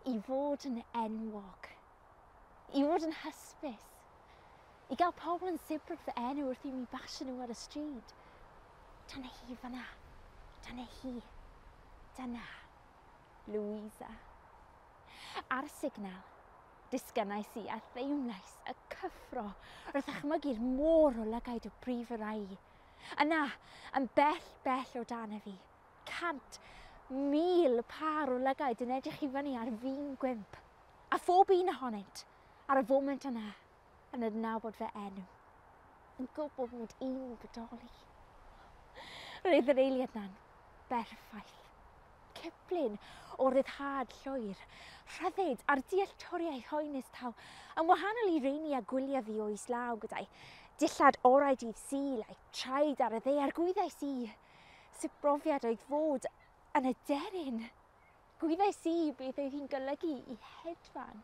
I fod yn enwog. I fod yn hysbys. I gael pobl yn sibrwd fy enw wrth i mi basio nhw ar y stryd. Dyna hi fan'na. Dyna hi. Dyna. Louisa. Ar y signal, disgynnais i a theimlais y cyffro wrth ddychmygu'r môr o lygaid o brif yr ai. Yna, yn bell, bell o dan y fi, 100,000 pâr o lygaid yn edrych i fyny ar fin gwymp. A phob un ohonynt, ar y foment yna, yn adnabod fy enw, yn gwybod mod i'n bodoli. Roedd yr eiliad na'n berffaith. Ciplun o ryddhad llwyr, rhyddid a'r dealltwriaeth hoenus taw, yn wahanol i reini a gwyliau fi o islaw gyda'i dillad orau dydd Sul a'i traed ar y ddaear, gwyddais i sut brofiad oedd fod yn aderyn. Gwyddais i beth oedd hi'n golygu i hedfan.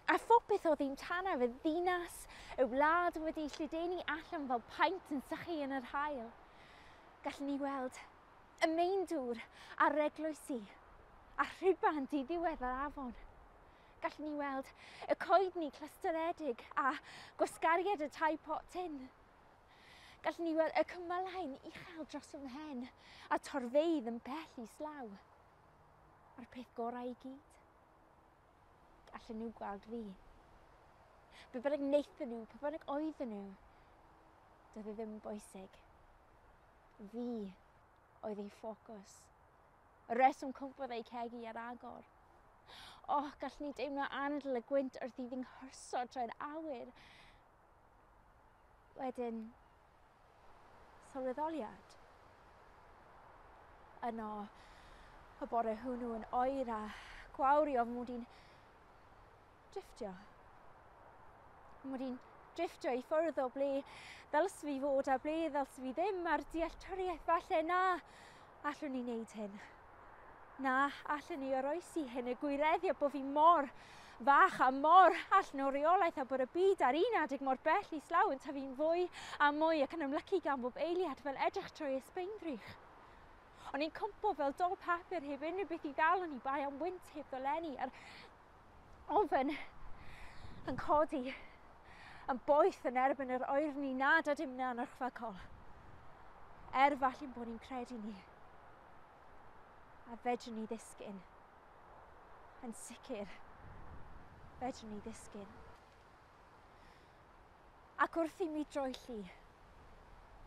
A phopeth oedd hi'n tanaf, y ddinas, y wlad wedi lledaenu allan fel paent yn sychu yn yr haul. Gallwn ni weld y meindŵr a'r eglwysi, a rhuban diddiwedd yr afon. Gallwn ni weld y coedni clusteredig a gwasgariad y tai pot tin. Gallwn ni weld y cymylau'n uchel dros fy mhen a torfeydd yn bell islaw. A'r peth gorau i gyd, allan nhw gweld fi. Be bynnag wnaethon nhw, pe bynnag oedden nhw, doedd e ddim yn bwysig. Fi oedd ei ffocws. Y reswm cwmpodd ei cegi ar agor. O, oh, gallwn ni deimlo anadl y gwynt wrth i ddinghyrso trwy'r awyr. Wedyn, sylweddoliad. Yno, y bore hwnnw yn oer a gwawrio fy mod i'n drifftio. Mod i'n drifftio i ffwrdd o ble ddylse fi fod a ble ddylse fi ddim, a'r dealltwriaeth falle na allwn ni wneud hyn. Na allwn ni oroesi hyn, y gwireddio bod fi mor fach a mor allan o reolaeth a bod y byd ar un adeg mor bell islaw yn tyfu'n fwy a mwy ac yn ymlycu gan bob eiliad fel edrych trwy ysbeindrych. O'n i'n cwmpo fel dol papur heb unrhyw beth i ddal, o'n i bai am wynt heb ddolenni, a'r ofn yn codi yn boeth yn erbyn yr oerni nad ydym na'n orchfygol. Er falle'n bod ni'n credu ni. A fedrwn ni ddisgyn. Yn sicr, fedrwn ni ddisgyn. Ac wrth i mi droelli,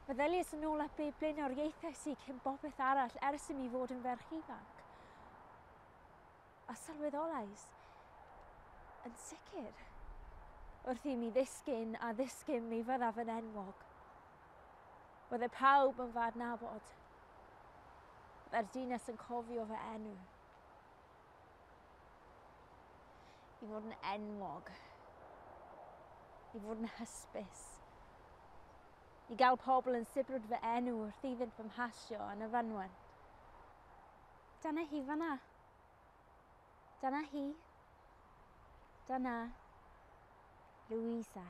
meddyliais yn ôl at be blaenoriaethais i cyn bopeth arall ers i mi fod yn ferch ifanc. A sylweddolais, yn sicr, wrth i mi ddisgyn a ddisgyn mi fyddaf yn enwog. Bydde pawb yn fy adnabod. Bydde'r dinas yn cofio fy enw. I fod yn enwog. I fod yn hysbys. I gael pobl yn sibrwd fy enw wrth iddynt fy mhasio yn y fynwent. Dyna hi fan'na. Dyna hi. Dyna Louisa.